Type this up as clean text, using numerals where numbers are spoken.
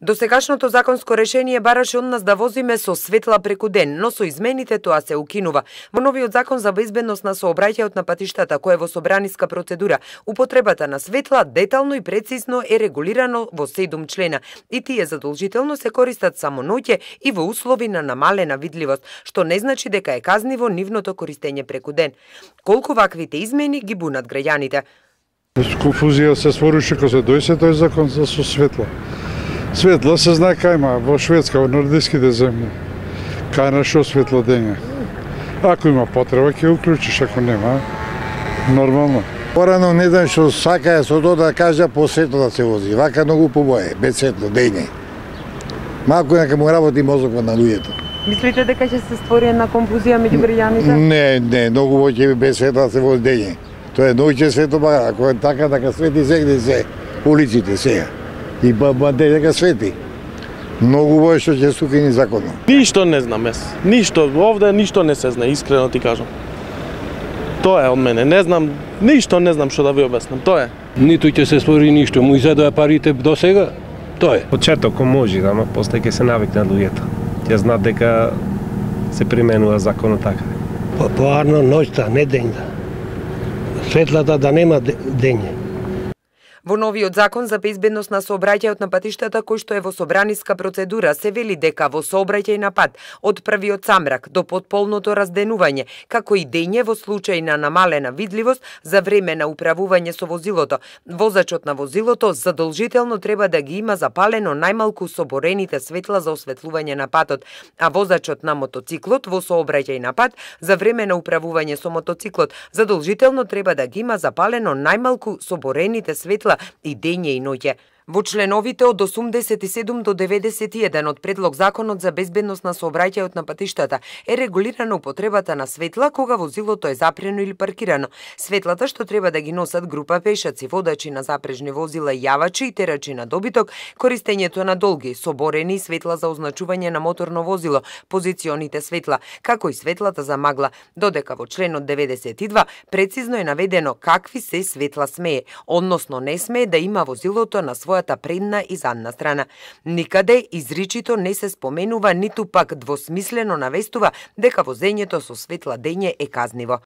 Досегашното законско решение бараше од нас да возиме со светла преку ден, но со измените тоа се укинува. Во новиот закон за безбедност на сообраќајот на патиштата, кој е во собраниска процедура, употребата на светла детално и прецизно е регулирано во 7 члена и тие задолжително се користат само ноќе и во услови на намалена видливост, што не значи дека е казниво нивното користење преку ден. Колку ваквите измени ги бунат граѓаните? Конфузија се створише кога се дојде тој закон за со светла. Светла се знае кај има во Шведска, во нордиските земји. Кај на шо светло дење. Ако има потреба ќе уклучиш, ако нема, нормално. Порано не знам што сакаја со тоа да кажа по светло да се вози. Вака многу побое, без светло дење. Малку нека му работи мозокот на луѓето. Мислите дека ќе се створи една конфузија меѓу граѓаните? Не, многу поќе без светло да се вози дење. Тоа е ноќе светло, ако е така свети сегде се улиците сега. И баде дека свети. Многу бој што ќе стукини законно. Ништо не знам јас. Ништо, овде ништо не се знае, искрено ти кажам. Тоа е од мене. Не знам, ништо не знам што да ви обяснам. Тоа е. Ниту ќе се створи ништо, му изедоа парите до сега. Тоа е. Почетокот може, ама после ќе се навикнат луѓето. Ќе знаат дека се применува законот така. Поарно ноќта, не дењта. Светлата да нема дење. Во новиот закон за безбедност на сообраќајот на патиштата, кој што е во собраниска процедура, се вели дека во сообраќај на пат од првиот самрак до потполното разденување, како и дење во случај на намалена видливост за време на управување со возилото, возачот на возилото задолжително треба да ги има запалено најмалку соборените светла за осветлување на патот, а возачот на мотоциклот во сообраќај на пат за време на управување со мотоциклот задолжително треба да ги има запалено најмалку соборените светла и дење и ноќе. Во членовите од 87 до 91 од предлог законот за безбедност на сообраќајот на патиштата е регулирана употребата на светла кога возилото е запрено или паркирано. Светлата што треба да ги носат група пешаци, водачи на запрежни возила, јавачи и терачи на добиток, користењето на долги, соборени светла за означување на моторно возило, позиционите светла, како и светлата за магла, додека во членот 92 прецизно е наведено какви се светла смее, односно не смее да има возилото на своја предна и задна страна. Никаде изричито не се споменува, ниту пак двосмислено навестува дека возењето со светла дење е казниво.